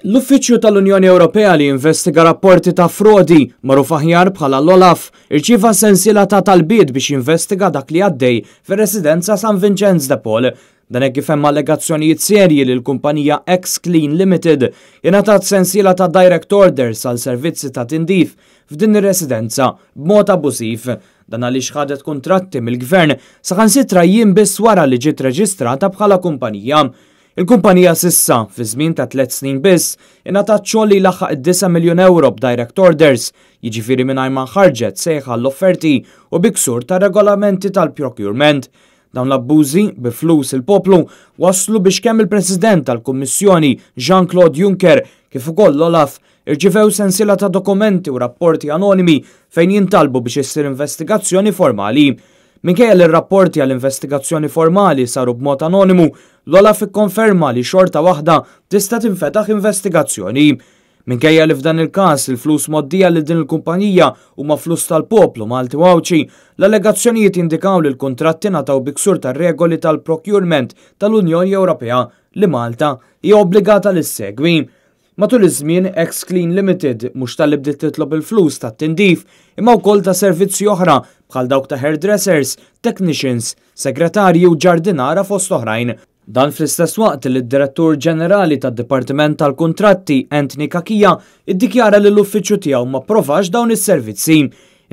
L-Uffiċċju tal-Unjoni Ewropea li jinvestiga rapporti ta' frodi, magħruf aħjar bħala l-OLAF, irċieva sensiela ta' talbiet biex jinvestiga dak li għaddej fir-residenza San Vinċenz de Paul. Dan hekk kif hemm allegazzjonijiet serji li l-kumpanija X-Clean Limited ingħatat sensiela ta' direct orders għal servizzi ta' tindif f'din ir-residenza b'mod abbużiv. Dan għaliex ħadet kuntratti mill-Gvern saħansitra jiem biss wara li ġiet reġistrata bħala kumpanija. Il-kumpanija s'issa, fi żmien ta' tlett snin biss, ingħatat xogħol li jlaħħaq id-disa' miljun ewro b'direct orders, jiġifieri mingħajr ma nħarġet sejħa għall-offerti u bi ksur tar-regolamenti tal-procurement. Dawn l-abbużi, bi flus il-poplu, wasslu biex kemm il-President tal-Kummissjoni Jean-Claude Juncker kif ukoll l-OLAF irċivew sensiela ta' dokumenti u rapporti anonimi fejn jintalbu biex issir investigazzjoni formali. Minkejja li r-rapporti għal investigazzjoni formali saru b'mod anonimu, l-OLAF ikkonferma li xorta waħda tista' tinfetaħ investigazzjoni. Minkejja li f'dan il-każ il-flus mgħoddija lil din il-kumpanija huma flus tal-poplu Malti u Għawdxi, l-allegazzjonijiet jindikaw li l-kuntratti ngħataw bi ksur tar-regoli tal-procurement tal-Unjoni Ewropea li Malta hija obbligata li ssegwi. Matul iż-żmien, X-Clean Limited mhux talli bdiet titlob il-flus tat-tindif, imma wkoll ta' servizzi oħra bħal dawk ta' hairdressers, technicians, segretarji u ġardinara fost oħrajn. Dan fl-istess waqt li d-Direttur Ġenerali tad-Dipartiment tal-Kuntratti, Anthony Cachia, iddikjara li l-uffiċċju tiegħu ma approvax dawn is-servizzi.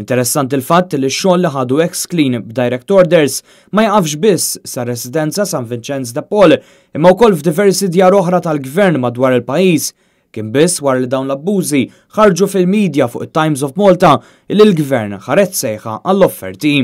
Interessanti l-fatt li x-xogħol li ħadu X-Clean b'direct orders ma jaqafx biss sar-residenza San Vinċenz de Paul imma wkoll f'diversi djar oħra tal-Gvern madwar il-pajjiż. Kien biss wara li dawn l-abbużi ħarġu fil-media fuq it-Times of Malta li l-Gvern ħareġ sejħa għall-offerti.